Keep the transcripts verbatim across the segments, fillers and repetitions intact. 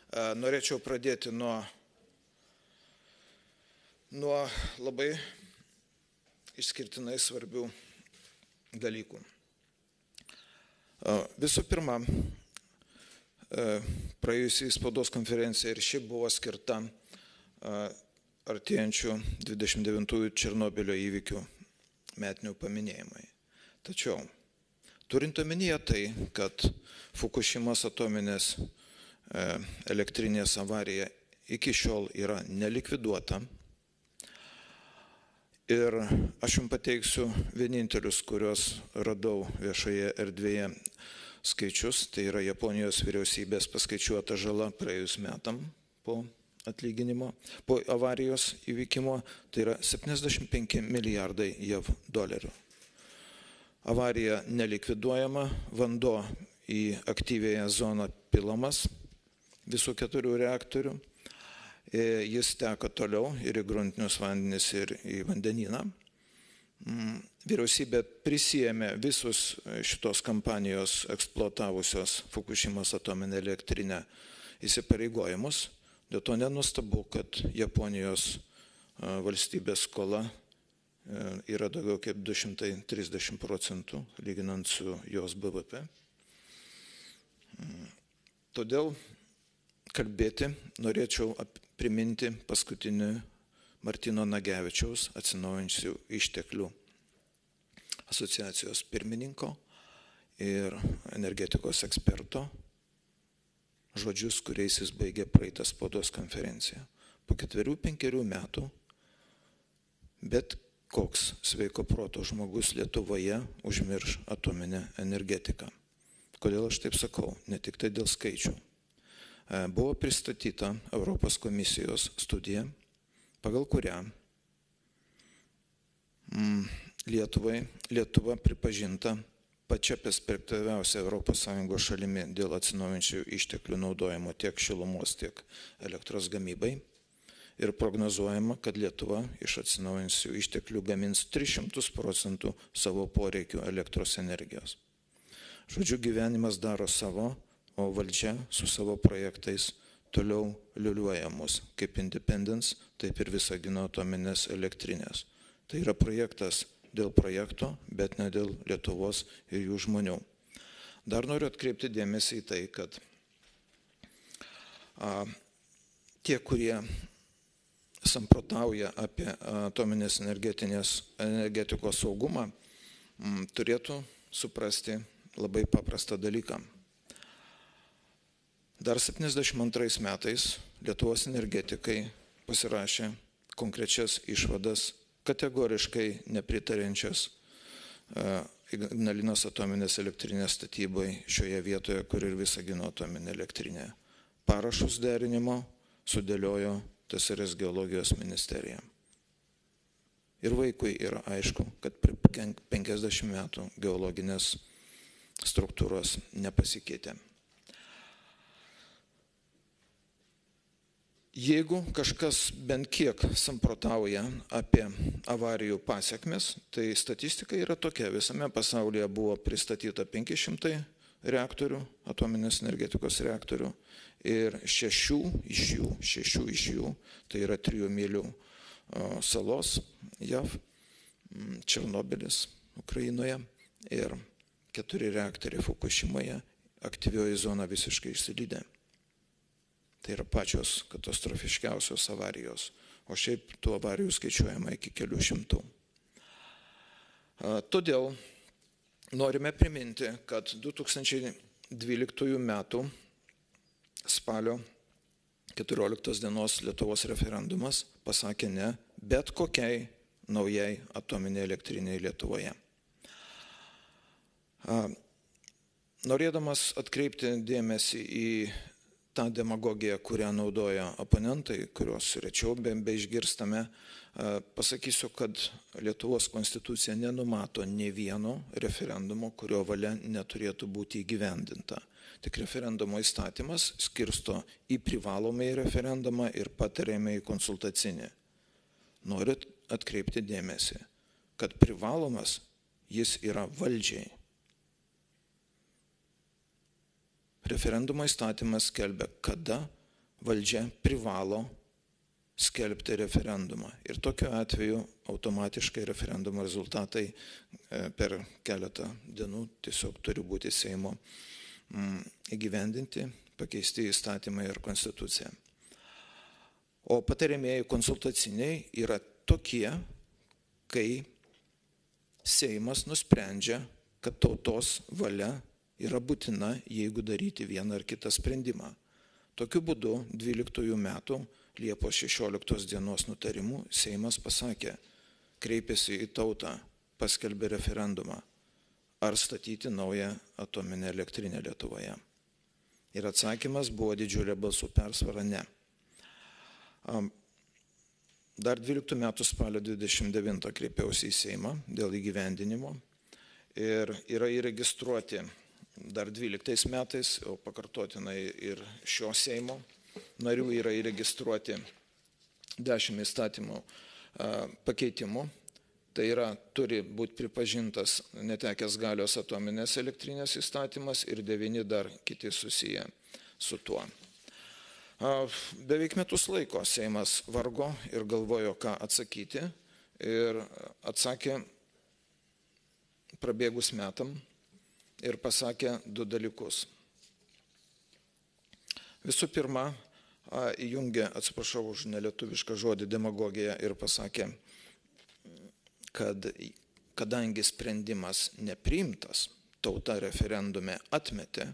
Norėčiau pradėti nuo, nuo labai išskirtinai svarbių dalykų. Visų pirma, praėjusiai spaudos konferencija ir ši buvo skirta artėjančių dvidešimt devintųjų Černobylio įvykių metinių paminėjimai. Tačiau, turint omenyje tai, kad Fukušimos atominės elektrinės avarija iki šiol yra nelikviduota, ir aš jums pateiksiu vienintelius, kuriuos radau viešoje erdvėje skaičius, tai yra Japonijos vyriausybės paskaičiuota žala praėjus metam po atlyginimo, po avarijos įvykimo, tai yra septyniasdešimt penki milijardai jav dolerių. Avarija nelikviduojama, vanduo į aktyvėją zoną pilamas visų keturių reaktorių. Jis teka toliau ir į gruntinius vandenis, ir į vandenyną. Vyriausybė prisijėmė visus šitos kampanijos eksploatavusios Fukušimos atominę elektrinę įsipareigojimus. Dėl to nenuostabu, kad Japonijos valstybės skola yra daugiau kaip du šimtai trisdešimt procentų, lyginant su jos B V P. Todėl kalbėti norėčiau priminti paskutinį Martyno Nagevičiaus Atsinaujinančių išteklių asociacijos pirmininko ir energetikos eksperto žodžius, kuriais jis baigė praeitą spaudos konferenciją. Po ketverių, penkerių metų bet koks sveiko proto žmogus Lietuvoje užmirš atominę energetiką. Kodėl aš taip sakau? Ne tik tai dėl skaičių. Buvo pristatyta Europos komisijos studija, pagal kurią Lietuvai, Lietuva pripažinta pačia perspektyviausia Europos Sąjungos šalimi dėl atsinaujinančių išteklių naudojimo tiek šilumos, tiek elektros gamybai. Ir prognozuojama, kad Lietuva iš atsinaujinančių išteklių gamins tris šimtus procentų savo poreikių elektros energijos. Žodžiu, gyvenimas daro savo, o valdžia su savo projektais toliau liuliuoja mus kaip Independence, taip ir Visagino atominės elektrinės. Tai yra projektas dėl projekto, bet ne dėl Lietuvos ir jų žmonių. Dar noriu atkreipti dėmesį į tai, kad a, tie, kurie samprotauja apie atominės energetikos saugumą, m, turėtų suprasti labai paprastą dalyką. Dar septyniasdešimt antrais metais Lietuvos energetikai pasirašė konkrečias išvadas, kategoriškai nepritariančias Ignalinos atominės elektrinės statybai šioje vietoje, kur ir Visagino atominė elektrinė. Parašus derinimo sudėliojo T S R S geologijos ministerija. Ir vaikui yra aišku, kad per penkiasdešimt metų geologinės struktūros nepasikeitė. Jeigu kažkas bent kiek samprotauja apie avarijų pasiekmes, tai statistika yra tokia. Visame pasaulyje buvo pristatyta penki šimtai reaktorių, atominės energetikos reaktorių, ir šešių iš jų, šešių iš jų, tai yra trijų mylių salos jav, Černobylis Ukrainoje ir keturi reaktoriai Fukušimoje, aktyvioji zona visiškai išsilydė. Tai yra pačios katastrofiškiausios avarijos, o šiaip tų avarijų skaičiuojama iki kelių šimtų. Todėl norime priminti, kad du tūkstančiai dvyliktųjų metų spalio keturioliktos dienos Lietuvos referendumas pasakė ne bet kokiai naujai atominiai elektriniai Lietuvoje. Norėdamas atkreipti dėmesį į tą demagogiją, kurią naudoja oponentai, kurios rečiau beišgirstame, pasakysiu, kad Lietuvos konstitucija nenumato nė vieno referendumo, kurio valia neturėtų būti įgyvendinta. Tik referendumo įstatymas skirsto į privalomąjį referendumą ir patariamąjį konsultacinį. Noriu atkreipti dėmesį, kad privalomas jis yra valdžiai. Referendumo įstatymas skelbia, kada valdžia privalo skelbti referendumą. Ir tokiu atveju automatiškai referendumo rezultatai per keletą dienų tiesiog turi būti Seimo įgyvendinti, pakeisti įstatymai ir konstitucija. O patariamieji konsultaciniai yra tokie, kai Seimas nusprendžia, kad tautos valia yra būtina, jeigu daryti vieną ar kitą sprendimą. Tokiu būdu dvyliktųjų metų Liepos šešioliktos dienos nutarimu Seimas pasakė, kreipėsi į tautą, paskelbė referendumą, ar statyti naują atominę elektrinę Lietuvoje. Ir atsakymas buvo didžiulė balsų persvara ne. Dar dvyliktų metų spalio dvidešimt devintą kreipiausi į Seimą dėl įgyvendinimo ir yra įregistruoti dar dvyliktais metais, o pakartotinai ir šio Seimo narių yra įregistruoti dešimt įstatymų pakeitimų. Tai yra, turi būti pripažintas netekęs galios atominės elektrinės įstatymas ir devyni dar kiti susiję su tuo. Beveik metus laiko Seimas vargo ir galvojo, ką atsakyti, ir atsakė prabėgus metam ir pasakė du dalykus. Visų pirma, įjungė, atsiprašau už nelietuvišką žodį, demagogiją ir pasakė, kad kadangi sprendimas nepriimtas, tauta referendume atmetė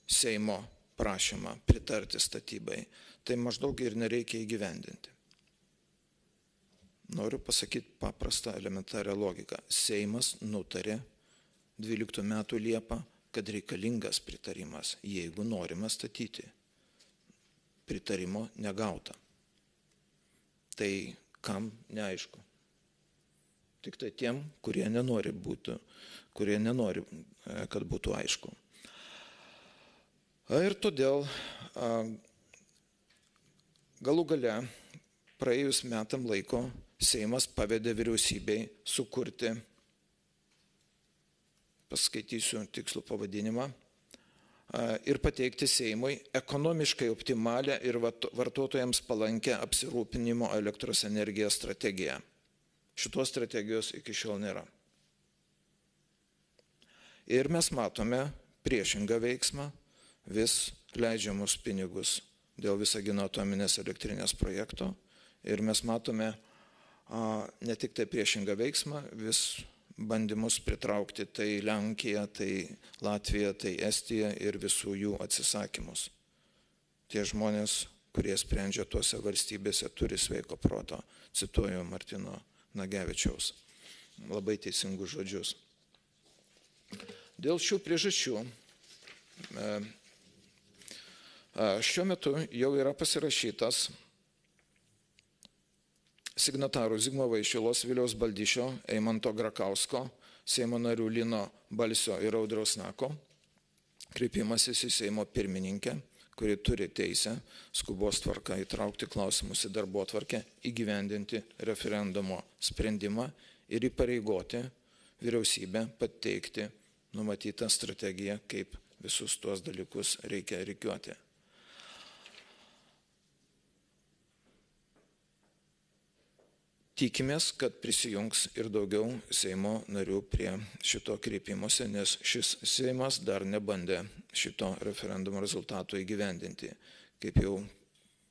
Seimo prašymą pritarti statybai, tai maždaug ir nereikia įgyvendinti. Noriu pasakyti paprastą elementarią logiką. Seimas nutarė dvyliktų metų Liepą, kad reikalingas pritarimas, jeigu norima statyti. Pritarimo negauta. Tai kam neaišku. Tik tai tiem, kurie nenori būti, kurie nenori, kad būtų aišku. Ir todėl galų gale praėjus metam laiko Seimas pavedė vyriausybei sukurti, paskaitysiu tikslų pavadinimą, ir pateikti Seimui ekonomiškai optimalią ir vartotojams palankę apsirūpinimo elektros energiją strategiją. Šitos strategijos iki šiol nėra. Ir mes matome priešingą veiksmą, vis leidžiamus pinigus dėl Visagino atominės elektrinės projekto. Ir mes matome a, ne tik tai priešingą veiksmą, vis bandymus pritraukti tai Lenkiją, tai Latviją, tai Estiją ir visų jų atsisakymus. Tie žmonės, kurie sprendžia tuose valstybėse, turi sveiko proto. Cituoju Martino Nagevičiaus labai teisingus žodžius. Dėl šių priežasčių šiuo metu jau yra pasirašytas signatarų Zigmo Vaišvilos, Viliaus Baldyšio, Eimanto Grakausko, Seimo narių Lino Balsio ir Audriaus Nako kreipimasis į Seimo pirmininkę, kuri turi teisę skubos tvarka įtraukti klausimus į darbotvarkę, įgyvendinti referendumo sprendimą ir įpareigoti vyriausybę pateikti numatytą strategiją, kaip visus tuos dalykus reikia rikiuoti. Tikimės, kad prisijungs ir daugiau Seimo narių prie šito kreipimosi, nes šis Seimas dar nebandė šito referendumo rezultato įgyvendinti. Kaip jau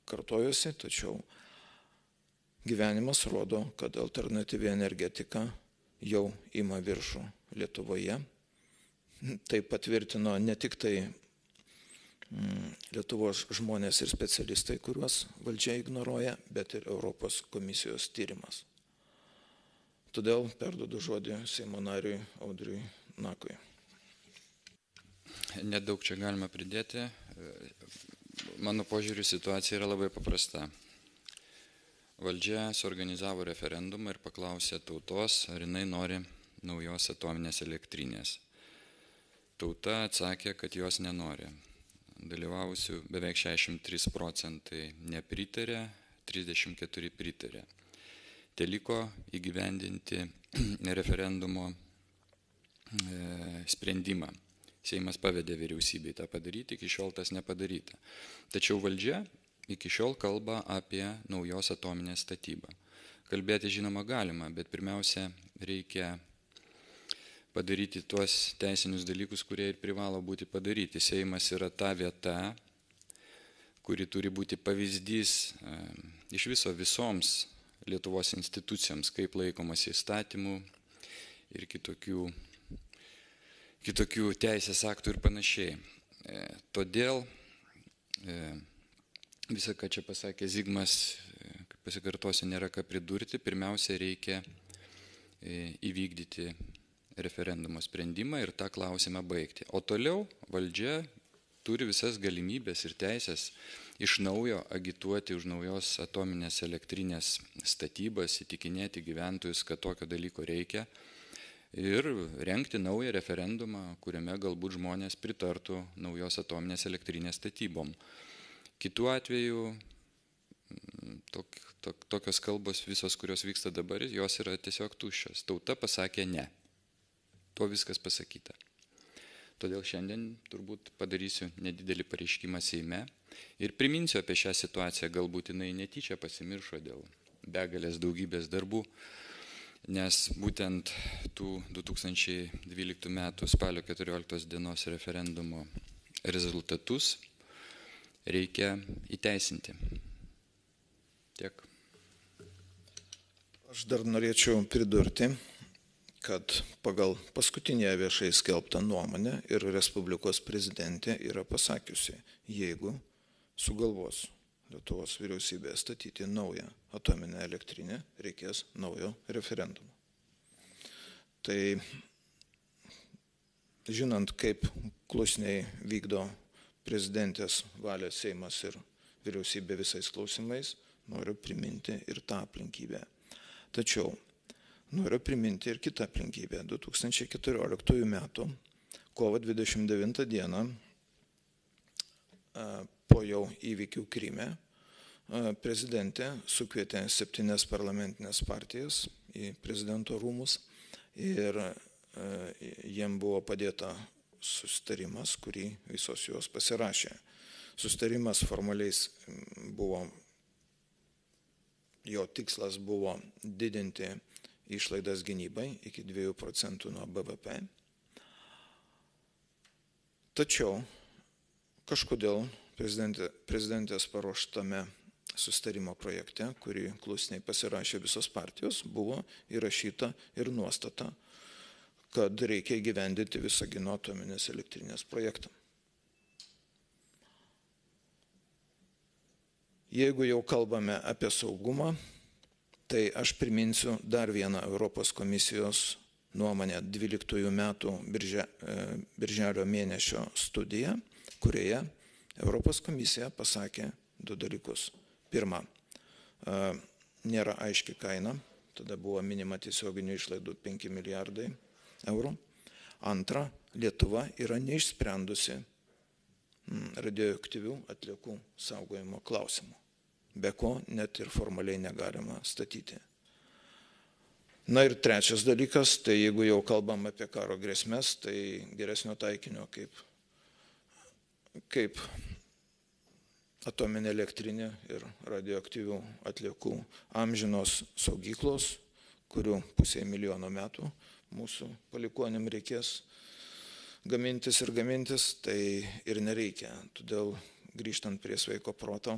kartojusi, tačiau gyvenimas rodo, kad alternatyvi energetika jau ima viršų Lietuvoje. Tai patvirtino ne tik tai Lietuvos žmonės ir specialistai, kuriuos valdžia ignoruoja, bet ir Europos komisijos tyrimas. Todėl perduodu žodį Seimo nariui Audriui Nakui. Nedaug čia galima pridėti. Mano požiūriu situacija yra labai paprasta. Valdžia suorganizavo referendumą ir paklausė tautos, ar jinai nori naujos atominės elektrinės. Tauta atsakė, kad jos nenori. Dalyvavusių beveik šešiasdešimt trys procentai nepritarė, trisdešimt keturi pritarė. Teliko įgyvendinti referendumo sprendimą. Seimas pavedė vyriausybei tą padaryti, iki šiol tas nepadaryta. Tačiau valdžia iki šiol kalba apie naujos atominės statybą. Kalbėti žinoma galima, bet pirmiausia reikia padaryti tuos teisinius dalykus, kurie ir privalo būti padaryti. Seimas yra ta vieta, kuri turi būti pavyzdys e, iš viso visoms Lietuvos institucijoms, kaip laikomas įstatymų ir kitokių, kitokių teisės aktų ir panašiai. E, todėl e, visą, ką čia pasakė Zigmas, e, pasikartosiu, nėra ką pridurti. Pirmiausia, reikia e, įvykdyti referendumo sprendimą ir tą klausimą baigti. O toliau valdžia turi visas galimybės ir teisės iš naujo agituoti už naujos atominės elektrinės statybas, įtikinėti gyventojus, kad tokio dalyko reikia ir rengti naują referendumą, kuriame galbūt žmonės pritartų naujos atominės elektrinės statybom. Kitu atveju tok, tok, tokios kalbos visos, kurios vyksta dabar, jos yra tiesiog tuščios. Tauta pasakė ne. Tuo viskas pasakyta. Todėl šiandien turbūt padarysiu nedidelį pareiškimą Seime ir priminsiu apie šią situaciją, galbūt jinai netyčia pasimiršo dėl begalės daugybės darbų, nes būtent tų du tūkstančiai dvyliktų metų spalio keturioliktos dienos referendumo rezultatus reikia įteisinti. Tiek. Aš dar norėčiau pridurti, kad pagal paskutinę viešai skelbtą nuomonę ir Respublikos prezidentė yra pasakiusi, jeigu sugalvos Lietuvos vyriausybė statyti naują atominę elektrinę, reikės naujo referendumo. Tai žinant, kaip klusniai vykdo prezidentės valią Seimas ir vyriausybė visais klausimais, noriu priminti ir tą aplinkybę. Tačiau noriu priminti ir kitą aplinkybę. du tūkstančiai keturioliktųjų metų kovo dvidešimt devintą dieną po jau įvykių Kryme prezidentė sukvietė septynias parlamentinės partijas į prezidento rūmus ir jiem buvo padėta susitarimas, kurį visos jos pasirašė. Susitarimas formaliais buvo, jo tikslas buvo didinti išlaidas gynybai iki dviejų procentų nuo B V P. Tačiau kažkodėl prezidentė, prezidentės paruoštame susitarimo projekte, kurį klusniai pasirašė visos partijos, buvo įrašyta ir nuostata, kad reikia įgyvendinti Visagino atominės elektrinės projektą. Jeigu jau kalbame apie saugumą, tai aš priminsiu dar vieną Europos komisijos nuomonę dvyliktųjų metų birželio, birželio mėnesio studiją, kurioje Europos komisija pasakė du dalykus. Pirma, nėra aiški kaina, tada buvo minima tiesioginių išlaidų penki milijardai eurų. Antra, Lietuva yra neišsprendusi radioaktyvių atliekų saugojimo klausimų, be ko net ir formaliai negalima statyti. Na ir trečias dalykas, tai jeigu jau kalbam apie karo grėsmės, tai geresnio taikinio kaip, kaip atominė elektrinė ir radioaktyvių atliekų amžinos saugyklos, kurių pusė milijono metų mūsų palikuonėm reikės gamintis ir gamintis, tai ir nereikia. Todėl grįžtant prie sveiko proto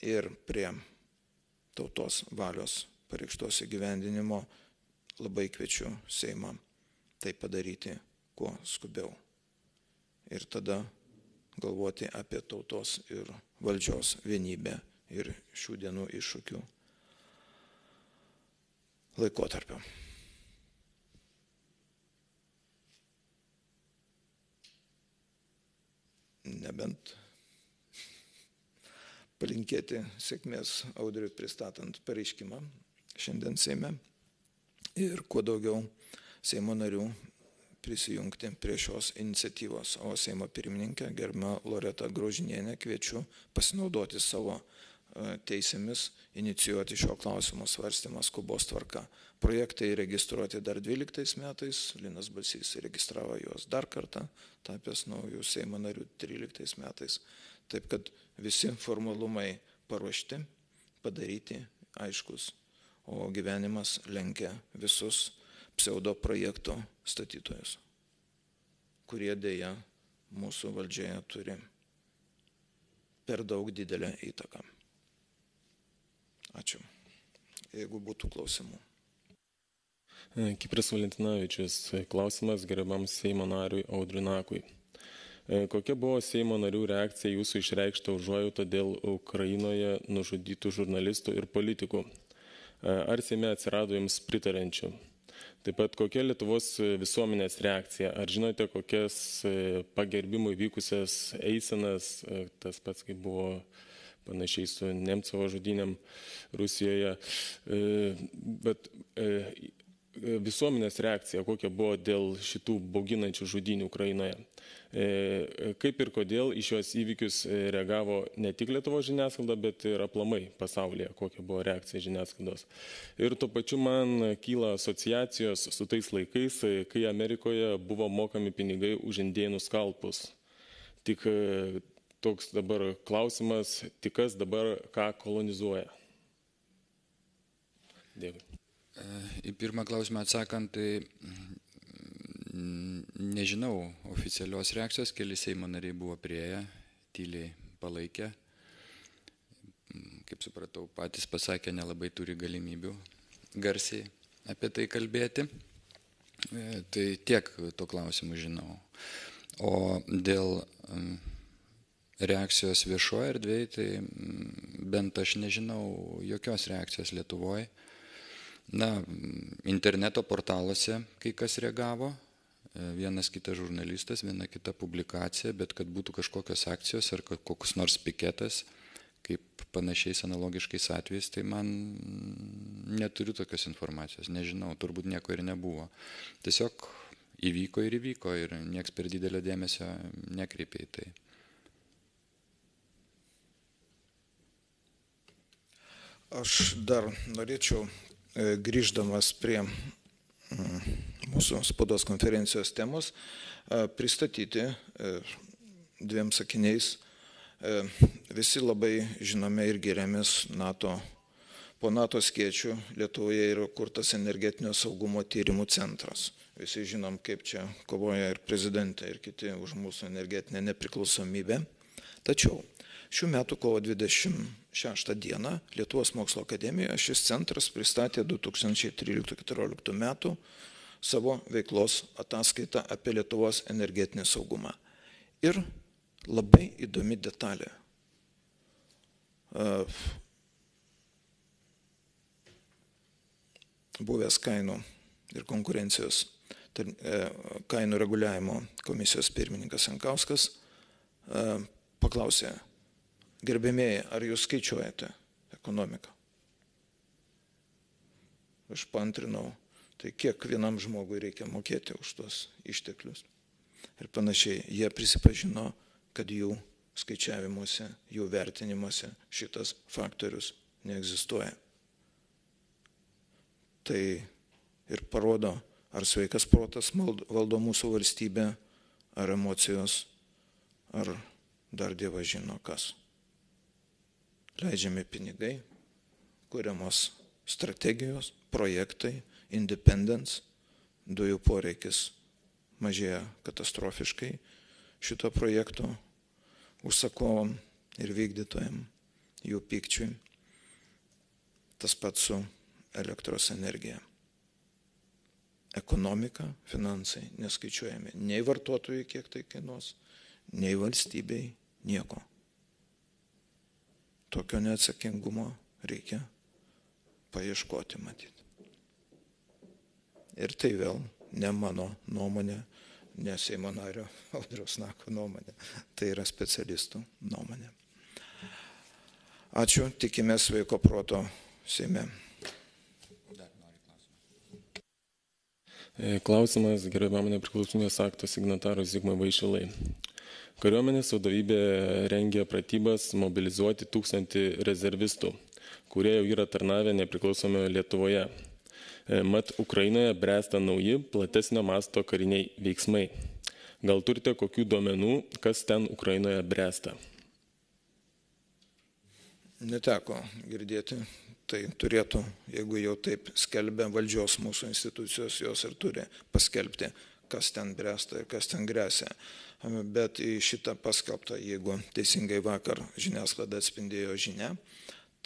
ir prie tautos valios pareikštos įgyvendinimo, labai kviečiu Seimą tai padaryti kuo skubiau. Ir tada galvoti apie tautos ir valdžios vienybę ir šių dienų iššūkių laikotarpio. Nebent palinkėti sėkmės Audriui pristatant pareiškimą šiandien Seime ir kuo daugiau Seimo narių prisijungti prie šios iniciatyvos. O Seimo pirmininkę, gerbiamą Loretą Graužinienę, kviečiu pasinaudoti savo teisėmis inicijuoti šio klausimo svarstymą skubos tvarka. Projektai registruoti dar dvyliktais metais, Linas Balsys registravo juos dar kartą, tapęs naujų Seimo narių tryliktais metais. Taip kad visi formalumai paruošti, padaryti, aiškus, o gyvenimas lenkia visus pseudo projekto statytojus, kurie dėja mūsų valdžioje turi per daug didelę įtaką. Ačiū. Jeigu būtų klausimų. Kipras Valentinavičius, klausimas gerbiamam Seimo nariui Audriui Nakui. Kokia buvo Seimo narių reakcija jūsų išreikšta užuojautą dėl Ukrainoje nužudytų žurnalistų ir politikų? Ar Seime atsirado jums pritarančių? Taip pat kokia Lietuvos visuomenės reakcija? Ar žinote, kokias pagerbimui vykusias eisenas, tas pats kaip buvo panašiai su Nemcovo žudynėm Rusijoje, bet visuomenės reakcija kokia buvo dėl šitų bauginančių žudynių Ukrainoje? Kaip ir kodėl į šios įvykius reagavo ne tik Lietuvos žiniasklaida, bet ir aplamai pasaulyje, kokia buvo reakcija žiniasklaidos. Ir tuo pačiu man kyla asociacijos su tais laikais, kai Amerikoje buvo mokami pinigai už indėnų skalpus. Tik toks dabar klausimas, tik kas dabar ką kolonizuoja. Dėkui. Į pirmą klausimą atsakant, tai nežinau oficialios reakcijos, keli Seimo nariai buvo prieėję, tyliai palaikė. Kaip supratau, patys pasakė, nelabai turi galimybių garsiai apie tai kalbėti. Tai tiek to klausimų žinau. O dėl reakcijos viešoje erdvėje, tai bent aš nežinau jokios reakcijos Lietuvoje. Na, interneto portaluose kai kas reagavo, vienas kitas žurnalistas, viena kita publikacija, bet kad būtų kažkokios akcijos ar kokius nors piketas, kaip panašiais analogiškais atvejais, tai man neturiu tokios informacijos, nežinau, turbūt nieko ir nebuvo. Tiesiog įvyko ir įvyko ir nieks per didelio dėmesio nekreipė į tai. Aš dar norėčiau, grįždamas prie mūsų spaudos konferencijos temos, pristatyti dviem sakiniais. Visi labai žinome ir giriamės NATO. Po NATO skėčių Lietuvoje yra kurtas energetinio saugumo tyrimų centras. Visi žinom, kaip čia kovoja ir prezidentė, ir kiti už mūsų energetinę nepriklausomybę. Tačiau šių metų kovo dvidešimt šeštą dieną Lietuvos mokslo akademijoje šis centras pristatė du tūkstančiai tryliktų keturioliktų metų savo veiklos ataskaitą apie Lietuvos energetinį saugumą. Ir labai įdomi detalė. Buvęs kainų ir konkurencijos kainų reguliavimo komisijos pirmininkas Jankauskas paklausė: gerbėmėjai, ar jūs skaičiuojate ekonomiką? Aš paantrinau, tai kiek vienam žmogui reikia mokėti už tos išteklius. Ir panašiai, jie prisipažino, kad jų skaičiavimuose, jų vertinimuose šitas faktorius neegzistuoja. Tai ir parodo, ar sveikas protas valdo mūsų valstybę, ar emocijos, ar dar Dievas žino kas. Leidžiami pinigai, kuriamos strategijos, projektai, independence, dujų poreikis mažėja katastrofiškai šito projekto užsakovom ir vykdytojam, jų pykčiui. Tas pats su elektros energija. Ekonomika, finansai neskaičiuojami. Nei vartotojai, kiek tai kainuos, nei valstybei, nieko. Tokio neatsakingumo reikia paieškoti, matyti. Ir tai vėl ne mano nuomonė, ne Seimo nario Audriaus Nako nuomonė, tai yra specialistų nuomonė. Ačiū, tikimės sveiko proto Seime. Klausimas gerbiamam nepriklausomybės akto signatarui Zigmui Vaišvilai. Kariuomenės vadovybė rengia pratybas mobilizuoti tūkstantį rezervistų, kurie jau yra tarnavę nepriklausomoje Lietuvoje. Mat, Ukrainoje bręsta nauji, platesnio masto kariniai veiksmai. Gal turite kokių duomenų, kas ten Ukrainoje bręsta? Neteko girdėti. Tai turėtų, jeigu jau taip skelbia valdžios mūsų institucijos, jos ir turi paskelbti, kas ten bręsta ir kas ten grėsia. Bet į šitą paskelbtą, jeigu teisingai vakar žiniasklaida atspindėjo žinią,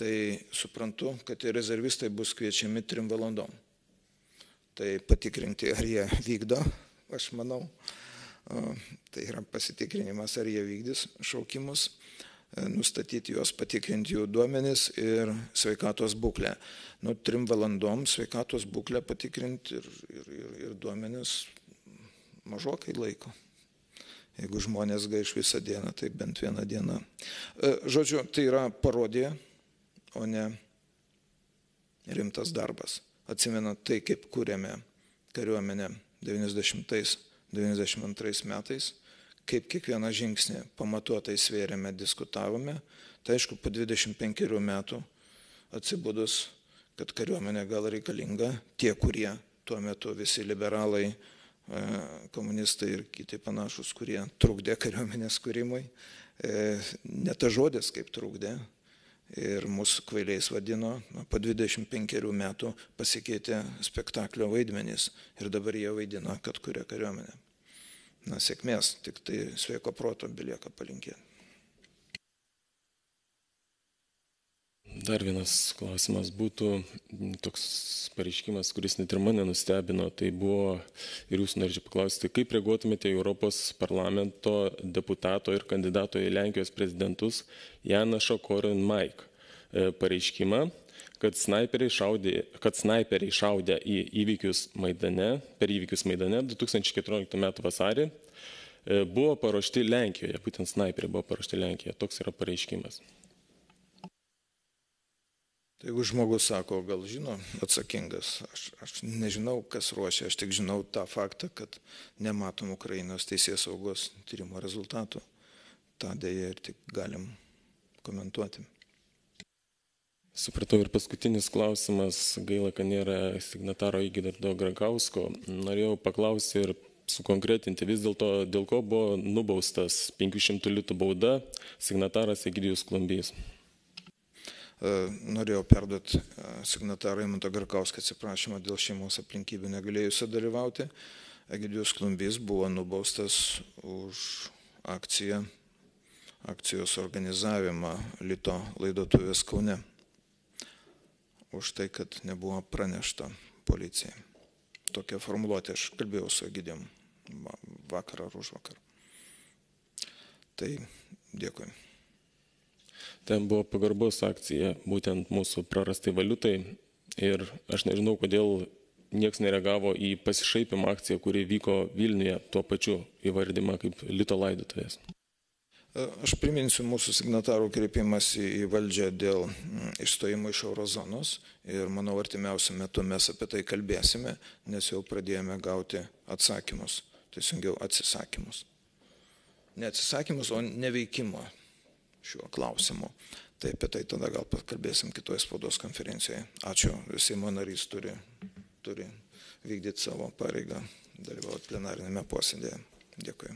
tai suprantu, kad ir rezervistai bus kviečiami trim valandom. Tai patikrinti, ar jie vykdo, aš manau, tai yra pasitikrinimas, ar jie vykdys šaukimus, nustatyti juos, patikrinti jų duomenis ir sveikatos būklę. Nu, trim valandom sveikatos būklę patikrinti ir, ir, ir, ir duomenis mažokai laiko. Jeigu žmonės gaiš visą dieną, tai bent vieną dieną. Žodžiu, tai yra parodija, o ne rimtas darbas. Atsimenat tai, kaip kūrėme kariuomenę devyniasdešimtais devyniasdešimt antrais metais, kaip kiekvieną žingsnį pamatuotai svėrėme, diskutavome. Tai aišku, po dvidešimt penkerių metų atsibudus, kad kariuomenė gal reikalinga, tie, kurie tuo metu visi liberalai, komunistai ir kiti panašus, kurie trukdė kariuomenės kūrimui, ne ta žodis kaip trukdė ir mūsų kvailiais vadino, po dvidešimt penkerių metų pasikeitė spektaklio vaidmenys ir dabar jie vaidina, kad kuria kariuomenė. Na, sėkmės, tik tai sveiko proto belieka palinkėti. Dar vienas klausimas būtų toks pareiškimas, kuris net ir mane nustebino. Tai buvo, ir jūs norėčiau paklausti, kaip reaguotumėte į Europos parlamento deputato ir kandidato į Lenkijos prezidentus Janašo Korvin-Mikke pareiškimą, kad snaiperiai šaudė, kad snaiperiai šaudė į įvykius Maidane, per įvykius Maidane du tūkstančiai keturioliktų metų vasarį, buvo paruošti Lenkijoje, būtent snaiperiai buvo paruošti Lenkijoje. Toks yra pareiškimas. Tai jeigu žmogus sako, gal žino, atsakingas, aš, aš nežinau, kas ruošia, aš tik žinau tą faktą, kad nematom Ukrainos teisės saugos tyrimo rezultatų. tą dėja ir tik galim komentuoti. Supratau, ir paskutinis klausimas, gaila, kad nėra signataro Įgirdo Gragausko. Norėjau paklausti ir sukonkretinti vis dėlto, dėl ko buvo nubaustas penkių šimtų litų bauda signataras Egidijus Klumbys. Norėjau perduoti signatarą Įgirdą Gragauską atsiprašymą dėl šeimos aplinkybių negalėjusio dalyvauti. Egidijus Klumbys buvo nubaustas už akciją, akcijos organizavimą Lito laidotuvės Kaune. Už tai, kad nebuvo pranešta policijai. Tokia formuluotė, aš kalbėjau su Egidijum vakar ar už vakar. Tai dėkui. Ten buvo pagarbos akcija, būtent mūsų prarastai valiutai. Ir aš nežinau, kodėl nieks nereagavo į pasišaipimą akciją, kuri vyko Vilniuje, tuo pačiu įvardymą kaip Lito laidotuvės. Aš priminsiu mūsų signatarų kreipimas į valdžią dėl išstojimo iš eurozonos ir manau artimiausiu metu mes apie tai kalbėsime, nes jau pradėjome gauti atsakymus, teisingiau atsisakymus. Ne atsisakymus, o neveikimo šiuo klausimu. Tai apie tai tada gal pakalbėsim kitoje spaudos konferencijoje. Ačiū, Seimo narys turi, turi vykdyti savo pareigą, dalyvauti plenarinėme posėdėje. Dėkui.